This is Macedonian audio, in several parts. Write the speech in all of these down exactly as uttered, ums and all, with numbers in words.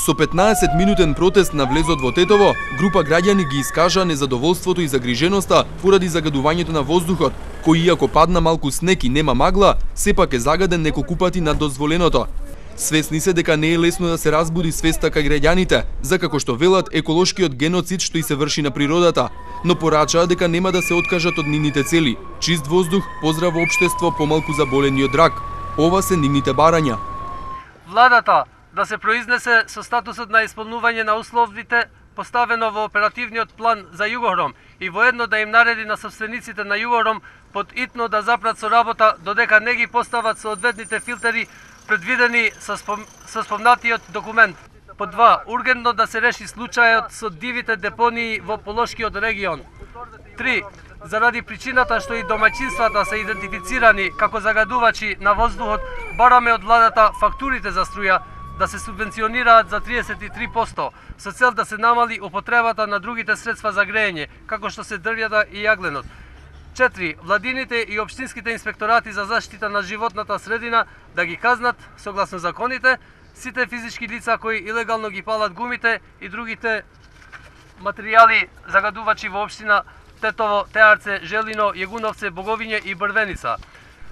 Со петнаесет минутен протест на влезот во Тетово, група граѓани ги искажа незадоволството и загриженоста поради загадувањето на воздухот, кој иако падна малку снег и нема магла, сепак е загаден неколку пати над дозволеното. Свесни се дека не е лесно да се разбуди свеста кај граѓаните, за како што велат еколошкиот геноцид што и се врши на природата, но порачаа дека нема да се откажат од нивните цели: чист воздух, поздраво општество, помалку заболени од рак. Ова се нивните барања. Владата да се произнесе со статусот на исполнување на условите поставено во оперативниот план за Југором и воедно да им нареди на собствениците на Југором под итно да запрат со работа додека не ги постават соодветните филтери предвидени со, спом... со спомнатиот документ. По два, ургентно да се реши случајот со дивите депонии во Полошкиот регион. Три, заради причината што и домаќинствата се идентифицирани како загадувачи на воздухот, бараме од владата фактурите за струја да се субвенционираат за триесет и три проценти, со цел да се намали употребата на другите средства за грејење, како што се дрвјата и јагленот. Четири. Владините и општинските инспекторати за заштита на животната средина да ги казнат, согласно законите, сите физички лица кои илегално ги палат гумите и другите материјали загадувачи во општина Тетово, Теарце, Желино, Јегуновце, Боговиње и Брвеница.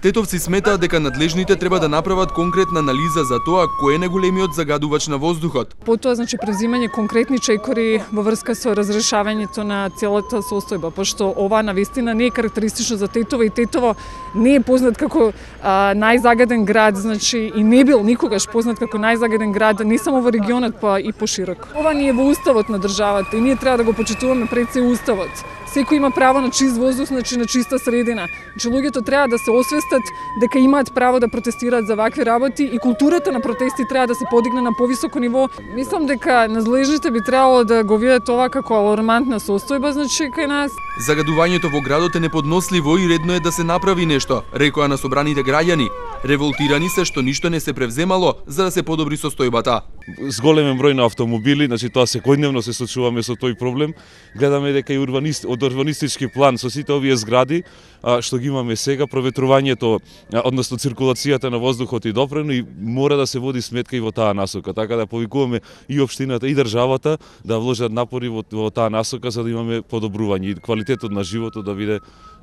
Тетовци сметаат дека надлежните треба да направат конкретна анализа за тоа кој е најголемиот загадувач на воздухот. Потоа, значи, презимање конкретни чекори во врска со разрешавањето на целата состојба, пошто ова навистина не е карактеристично за Тетово и Тетово не е познат како а, најзагаден град, значи и не бил никогаш познат како најзагаден град не само во регионот, па и пошироко. Ова ни е во уставот на државата и ние треба да го почитуваме пред се уставот. Секој има право на чист воздух, значи на чиста средина. Значи луѓето треба да се освестат дека имаат право да протестираат за вакви работи и културата на протести треба да се подигне на повисоко ниво. Мислам дека надлежните би требало да го видат ова како алармантна состојба, значи кај нас. Загадувањето во градот е неподносливо и редно е да се направи нешто, рекоа на собраните граѓани. Револтирани се што ништо не се превземало за да се подобри состојбата. Зголемен број на автомобили, значи тоа секојдневно се соочуваме со тој проблем. Гледаме дека и урбанист, од урбанистички план со сите овие згради а, што ги имаме сега, проветрувањето, а, односно циркулацијата на воздухот и допрено и мора да се води сметка и во таа насока, така да повикуваме и општината и државата да вложат напори во, во таа насока за да имаме подобрување и квалитетот на животот да биде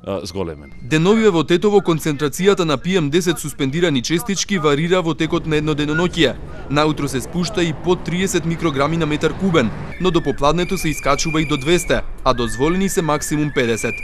а, зголемен. Деновиве во Тетово концентрацијата на пи ем десет суспендирани честички варира во текот на едно деноноќие. Наутро се спушта и под триесет микрограми на метар кубен, но до попладнето се искачува и до двесте, а дозволени се максимум педесет.